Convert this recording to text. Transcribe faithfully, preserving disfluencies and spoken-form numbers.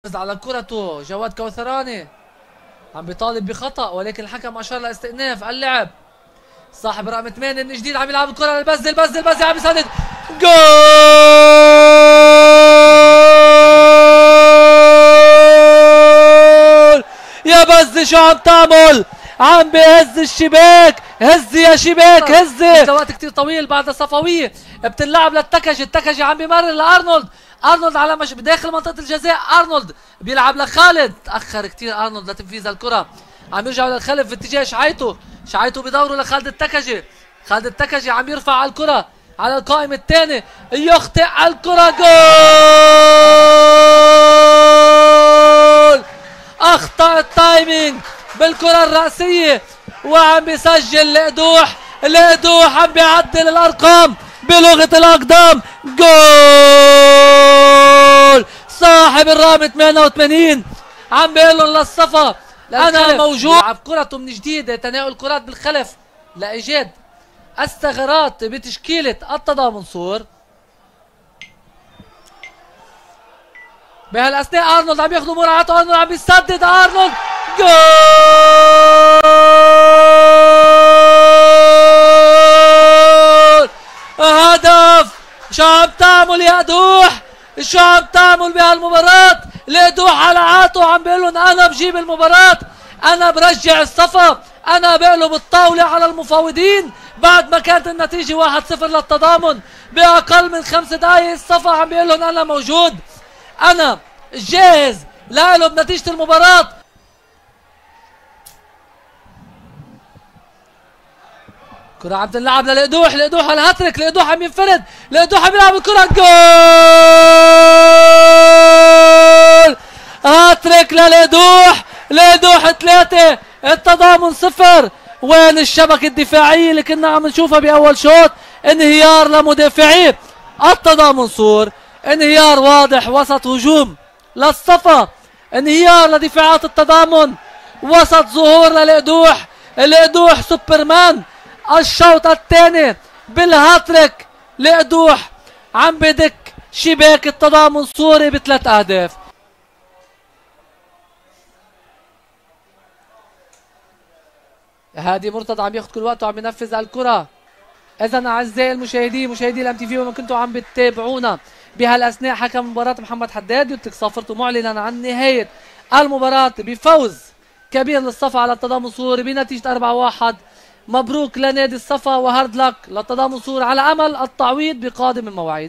على كرته جواد كوثراني عم بيطالب بخطأ، ولكن الحكم أشار لاستئناف اللعب. صاحب رقم ثمانية من جديد عم يلعب الكرة للبزة، البزة البزة عم يسدد جول يا بزة. شو عم تعمل؟ عم بهز الشباك، هزي يا شباك هزي. وقت كتير طويل بعد صفوية بتنلعب للتكجي، التكجي عم بيمرر لارنولد، ارنولد على مش بداخل منطقة الجزاء، ارنولد بيلعب لخالد، تأخر كتير ارنولد لتنفيذ الكرة، عم يرجعوا للخلف في اتجاه شعيتو، شعيتو بدوروا لخالد التكجي، خالد التكجي عم يرفع على الكرة على القائم الثاني، يخطئ الكرة جول. اخطأ التايمينج بالكرة الرأسية وعم بيسجل لقدوح، لقدوح عم بيعدل الارقام بلغة الاقدام. جول صاحب الرقم ثمانية وثمانين عم بيقول لهم للصفا انا موجود. يلعب كرته من جديد، تناول كرات بالخلف لايجاد الثغرات بتشكيلة التضامن صور. بهالاثناء ارنولد عم ياخذوا مراعاته، ارنولد عم بيسدد، ارنولد جول. هدف. شو عم تعمل يا قدوح؟ شو عم تعمل بهالمباراة؟ لقدوح على عاته عم بيقول لهم انا بجيب المباراة، انا برجع الصفا، انا بقلب الطاولة على المفاوضين بعد ما كانت النتيجة واحد صفر للتضامن باقل من خمس دقائق. الصفا عم بيقول لهم انا موجود، انا جاهز لقلب نتيجة المباراة. كرة عم تلعب للقدوح، لقدوح على الهاتريك، لقدوح عم ينفرد، لقدوح عم يلعب الكرة جول. هاتريك للقدوح، لقدوح ثلاثة التضامن صفر. وين الشبكة الدفاعية اللي كنا عم نشوفها بأول شوط؟ انهيار لمدافعي التضامن صور، انهيار واضح وسط هجوم للصفا، انهيار لدفاعات التضامن وسط ظهور للقدوح، القدوح سوبرمان. الشوط الثاني بالهاتريك لقدوح عم بدك شباك التضامن صوري بثلاث اهداف. هادي مرتضى عم ياخذ كل وقته وعم ينفذ الكرة. اذا اعزائي المشاهدين، مشاهدي الام تي في، وما كنتوا عم بتتابعونا بهالاثناء، حكم مباراة محمد حداد يترك صافرته معلنا عن نهاية المباراة بفوز كبير للصفا على التضامن صوري بنتيجة أربعة واحد. مبروك لنادي الصفا وهارد لك للتضامن صوري على امل التعويض بقادم المواعيد.